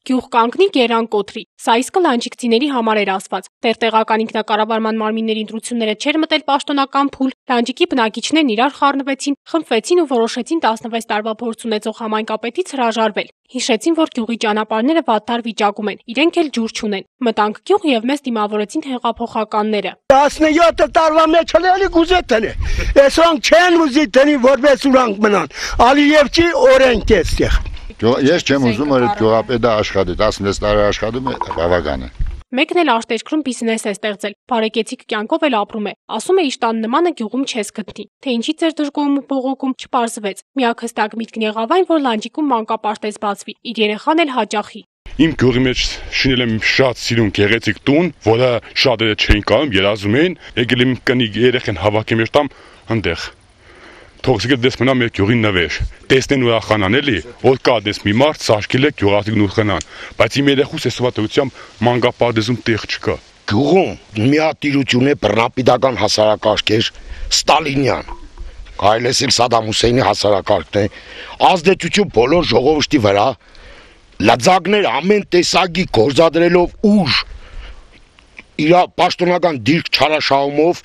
Գյուղ կանգնի գերան կոթրի, սա իսկ լանջիկցիների համար էր ասված, դեռ տեղական ինքնակառավարման մարմինների ընտրությունները չէր մտել պաշտոնական փուլ, լանջիկի բնակիչներն իրար խառնվեցին, խմբվեցին ու որոշեցին 16 տարվա փորձ ունեցող համայնքապետից հրաժարվել, հիշեցին, որ գյուղի ճանապարհները վատթար վիճակում են, իրենք էլ ջուր չունեն, մտանք գյուղ եւ մեզ դիմավորեցին հեղափոխականները։ 17 տարվա մեջ հələ գուզե տենե, այսօք չեն ուզի տնի որպես ուրանք մնան, Ալիևչի օրենք է ստեղ։ Ես չեմ ուզում, որ այդ գյուղապետը աշխատի, 16 տարի աշխատում է, բավական է։ Մեկն էլ արտերկրում բիզնես է ստեղծել, բարեկեցիկ կյանքով էլ ապրում է, ասում է իշ տան նմանը գյուղում չես գտնի, թե ինչից էր դժգոհում ու բողոքում չպարզվեց, միակ հստակ միտքն եղավ այն, որ լանջիկում մանկապարտեզ բացվի, իր երեխան էլ հաճախի։ Իմ գյուղի մեջ շինել եմ շատ սիրուն գեղեցիկ տուն, որը շատերը չէին կարում, երազում էին, եկել եմ կնիկ երեխեն հավաքեմ մեր տամ այնտեղ։ Թողսիկը դες մնա մեր գյուղի նվեր, տեսնեն ուրախանան էլի, որ կա դες մի մարդ սարքել է գյուղացիքն ուրախանան, բայց իմ երեխուս այսվատությամբ մանկապարտեզում տեղ չկա։ Գյուղում մի հատ տիրություն է բռնապետական հասարակարգեր, Ստալինյան, կարելի է Սադամ Հուսեյնի հասարակարգն է, ազդեցություն բոլոր ժողովրդի վրա, լծակներ ամեն տեսակի գործադրելով ուժ, իր պաշտոնական դիրք չարաշահումով։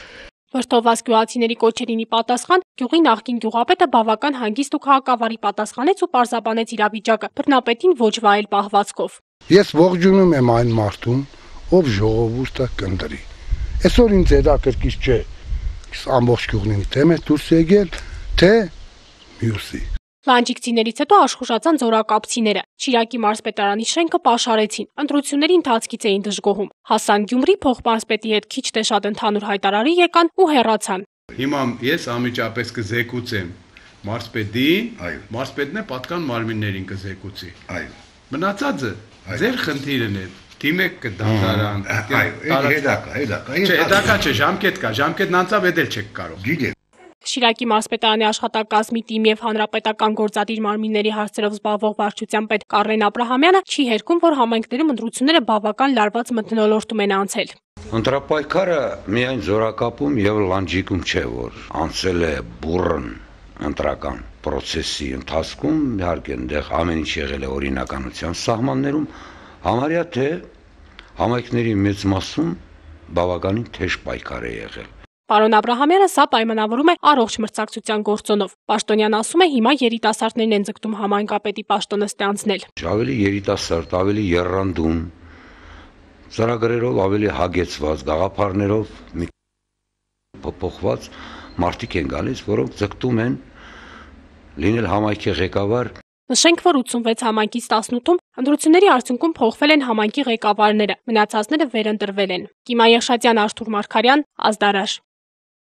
Վրդովված գյուղացիների կոչերին ի պատասխան գյուղի նախկին գյուղապետը բավական հանգիստ ու քաղաքավարի պատասխանեց ու պարզաբանեց իրավիճակը, բռնապետին ոչ վայել պահվածքով։ Ես ողջունում եմ այն մարդուն, ով ժողովուրդը կընտրի։ Այսօր ինձ հետաքրքիր չէ, ամբողջ գյուղին դեմ է դուրս եկել, թե մյուսի։ Լանջիկցիներից հետո աշխուժացան զորակապցիները, Շիրակի մարզպետարանի շենքը պաշարեցին, ընտրությունների ընթացքից էին դժգոհում, հասան Գյումրի փոխմարզպետի հետ քիչ թե շատ ընդհանուր հայտարարի եկան ու հեռացան։ Հիմա ես անմիջապես կզեկուցեմ մարզպետին, մարզպետն է պատկան մարմիններին կզեկուցի։ Մնացածը ձեր խնդիրն է, դիմեք կդատարան։ Հետաքա չէ, ժամկետն անցավ, էդ էլ չեք կարող։ Շիրակի մարզպետարանի աշխատակազմի թիմ եւ հանրապետական գործադիր մարմինների հարցերով զբաղվող վարչության պետ Կարեն Աբրահամյանը չի հերքում, որ համայնքներում ընտրությունները բավական լարված մթնոլորտում են անցել։ Ընտրապայքարը միայն զորակապում եւ լանջիկում չէ, որ անցել է բուրըն ընտրական process-ի ընթացքում, իհարկե այնտեղ ամեն ինչ եղել է օրինականության սահմաններում, համարյա թե համայնքների մեծ մասում բավականին թեժ պայքար է եղել։ Պարոն Աբրահամյանը սա պայմանավորում է առողջ մրցակցության գործոնով։ Պաշտոնյան ասում է հիմա երիտասարդներն են ձգտում համայնքապետի պաշտոնը ստանձնել։ Ավելի երիտասարդ, ավելի եռանդուն, ծրագրերով ավելի հագեցված, գաղափարներով մի փոփոխված մարդիկ են գալիս, որոնք ձգտում են լինել համայնքի ղեկավար։ Նշենք, որ 86 համայնքից 18-ում ընտրությունների արդյունքում փոխվել են համայնքի ղեկավարները, մնացածները վերընտրվել են։ Կիմա Եղշատյան, Արթուր Մարգարյան, Ազդարաշ։